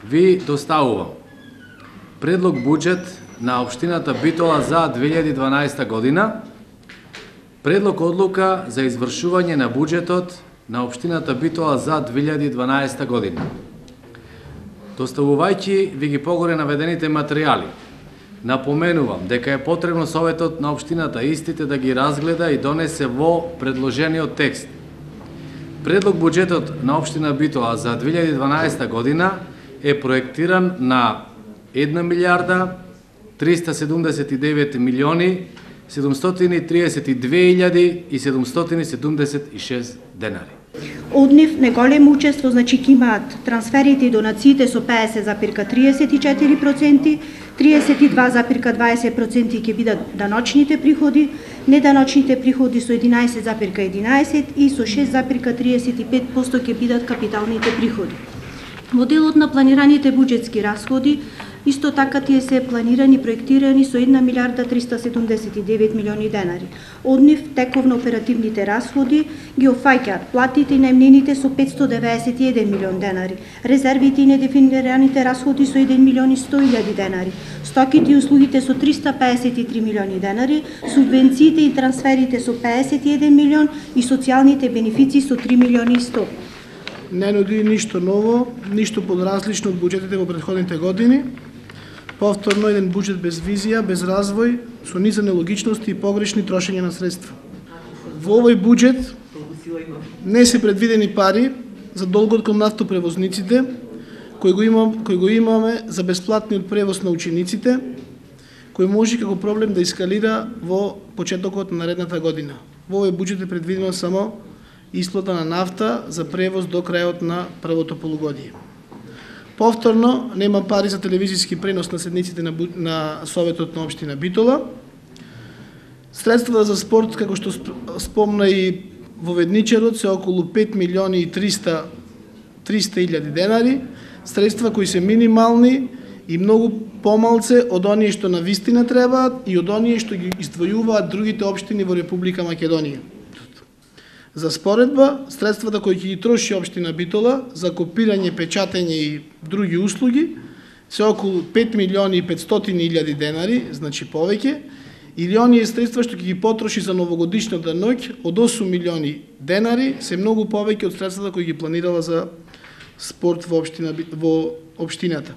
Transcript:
ви доставувам предлог буџет на општината Битола за 2012 година, предлог одлука за извршување на буџетот на општината Битола за 2012 година. Доставувајќи ви ги погоре наведените материјали, напоменувам дека е потребно Советот на општината истите да ги разгледа и донесе во предложениот текст. Предлог буџетот на општина Битола за 2012 година е проектиран на 1 милијарда 379 милиони 732.776 денари. Од нив неголемо учество ќе имаат трансферите и донациите со 50,34%, 32,20% ќе бидат даночните приходи, неданочните приходи со 11,11% и со 6,35% ќе бидат капиталните приходи. Во делот на планираните буџетски расходи, исто така тие се планирани и проектирани со 1 милијарда 379 милиони денари. Од нив тековно оперативните расходи ги офаќаат платите и наемнините со 591 милион денари, резервите и недефинираните расходи со 1 милион и 100.000 денари, стоките и услугите со 353 милиони денари, субвенциите и трансферите со 51 милион и социјалните бенефиции со 3 милиони и 100. Не нуди ништо ново, ништо подразлично од буџетите во претходните години. Повторно еден буџет без визија, без развој, со низа нелогичности и погрешни трошење на средства. Во овој буџет не се предвидени пари за долгот кон нафтопревозниците, кој го имаме за бесплатниот превоз на учениците, кој може како проблем да ескалира во почетокот на наредната година. Во овој буџет е предвидено само исплата на нафта за превоз до крајот на првото полугодие. Повторно, нема пари за телевизиски пренос на седниците на Советот на општина Битола. Средства за спорт, како што спомна и воведничарот, се околу 5 милиони и 300.000 денари, средства кои се минимални и многу помалце од оние што навистина требаат и од оние што ги издвојуваат другите општини во Република Македонија. За споредба, средствата кои ќе ги троши општина Битола за копирање, печатење и други услуги се околу 5 милиони и 500.000 денари, значи повеќе, или оние средства што ќе ги потроши за новогодишната ноќ од 8 милиони денари се многу повеќе од средствата кои ги планирала за спорт во општината.